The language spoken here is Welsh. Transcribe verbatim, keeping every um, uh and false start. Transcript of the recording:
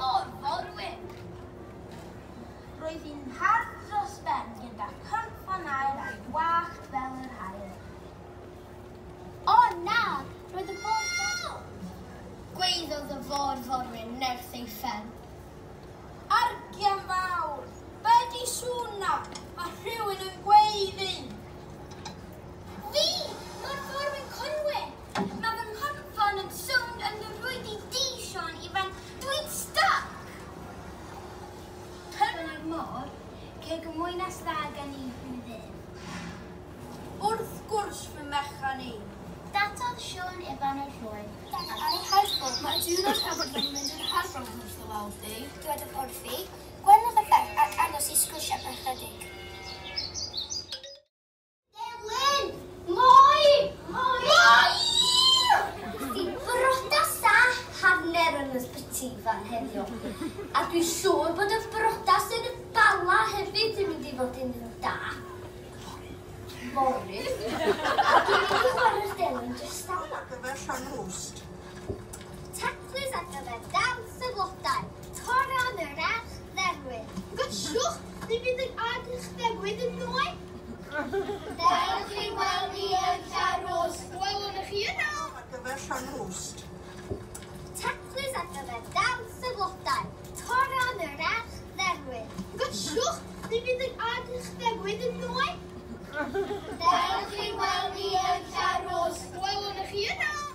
môr-forwyn. Roedd hi'n hardd dros ben gyda chynffon aur a'i wallt fel yr haul. O na! Roedd y fôr... Gwaeddodd y fôr-forwyn nerth ei phen. Argian fawr! Be di sŵn 'na? Mae rhywun yn gweiddi! Fi! Môr-forwyn Conwy! Mae fy nghynffon yn sownd yn y rwyd i di, Siôn Ifan. Dwi'n stuck! Dyna'r môr, ceg y mwynas dda gen i ddim. Wrth gwrs fy mechan i. Datodd Siôn Ifan y rhwy. Ar ei helpu, mae diwrnod hefyd yn mynd yn herfron wrth y weld di. Dywedodd wrthi, gwenodd y ferch ac aros i sgwrsio am ychydig. Delyn! Moi! Moi! Moi! Di brodas a hanner yn ysbyty fan heddiw. A dwi'n siŵr bod y brodas yn y Bala hefyd yn mynd i fod yn da. Fory. A dwi'n mynd i chwarae'r delyn jyst am. Ar gyfer Llanrwst. Taclus ar gyfer dawns y blodau. Toron yr arch dderwydd. Gyswch, ni fydd yn arch dderwydd yn nwy. Dewch i weld ni yn Llanrwst. Welwn chi yno. Ar gyfer Llanrwst. Taclus ar gyfer dawns y blodau. Toron yr arch dderwydd. Gyswch, ni fydd yn arch dderwydd yn nwy. Dewch i weld ni yn Llanrwst. Welwn chi yno.